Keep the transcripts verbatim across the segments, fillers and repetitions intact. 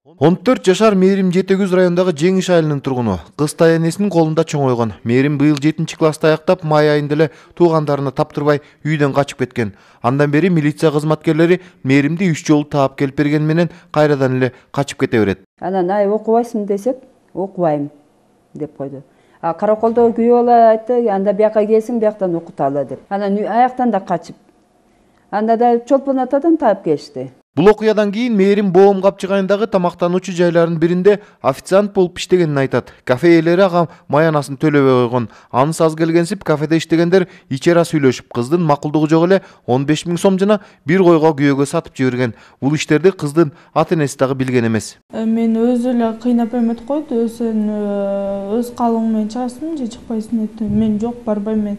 он төрт жашар Мээрим Жети Күз районундагы Жеңиш айылынын тургуну. Кыз энесинин колунда чоңойгон. Мээрим быйыл жетинчи класста аяктап, май айында эле туугандарына таптырбай үйдөн качып кеткен. Андан бери милиция кызматкерлери Мээримди үч жолу таап келип бергени менен кайрадан эле качып кете берет. Анан ай окубайсың десек, окубайм деп койду. А караколдо күйөө бала айтты, анда бияка келсин, бияктан окуталы деп. Анан аяктан да качып. Анда да Чолпон атадан таап келишти. Бул окуядан кийин Мээрим Боом Капчык айылындагы тамактануучу жайлардын биринде официант болуп иштегенин айтат. Кафе ээлери ага маянасын төлөбөй койгон. Анысы аз келгенсип кафеде иштегендер ичера сүйлөшүп, кыздын макулдугу жок эле он беш миң сом жана бир койго күйөөгө сатып жиберген. Бул иштерди кыздын ата-энеси дагы билген эмес. Мен өзү эле кыйнап эметип койду, өзүн өз калың менен чыгасың же чыкпайсың деп. Мен жок, барбайм мен.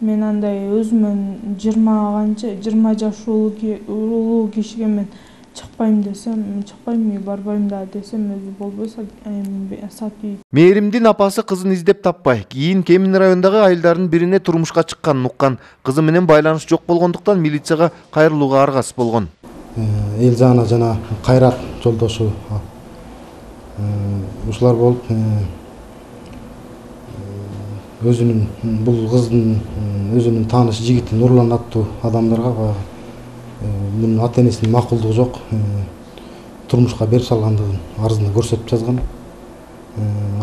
Мен андай өзүмөн жыйырма канча жыйырма жаш улуу кишиге мен чыкпайм десем, чыкпайм, барбайм да десем, өзү болбойсо сатып. Мээримдин апасы кызын издеп таппай, кийин Кемин районундагы айылдардын бирине турмушка чыкканын уккан. Кызы менен байланыш жок болгондуктан милицияга кайрылууга аргасыз болгон. Элжана жана Кайрат жолдошу ушулар болуп өзүнүн бул кыздын өзүнүн тааныш жигити Нурлан аттуу адамдарга мунун ата-энесинин макулдугу жок, турмушка берип салгандыгын арызында көрсөтүп жазган.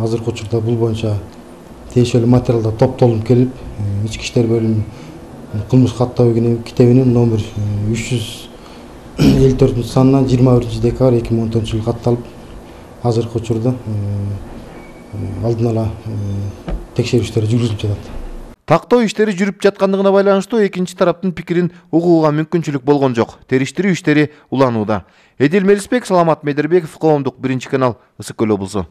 Азыркы учурда бул боюнча тиешелүү материалдар топтолуп келип, ички иштер бөлүмү кылмыш каттоо китебинин номер үч жүз элүү төртүнчү санына жыйырма биринчи декабрь эки миң он төртүнчү жылы катталып, азыркы учурда алдын ала текшерүү иштери жүргүзүлүп жатат. Тактоо иштери жүрүп жаткандыгына байланыштуу экинчи тараптын пикирин угууга мүмкүнчүлүк болгон жок. Териштирүү иштери уланууда. Эдил Мелисбек, Саламат Медербеков, Коомдук биринчи канал, Ысык Көл облусу.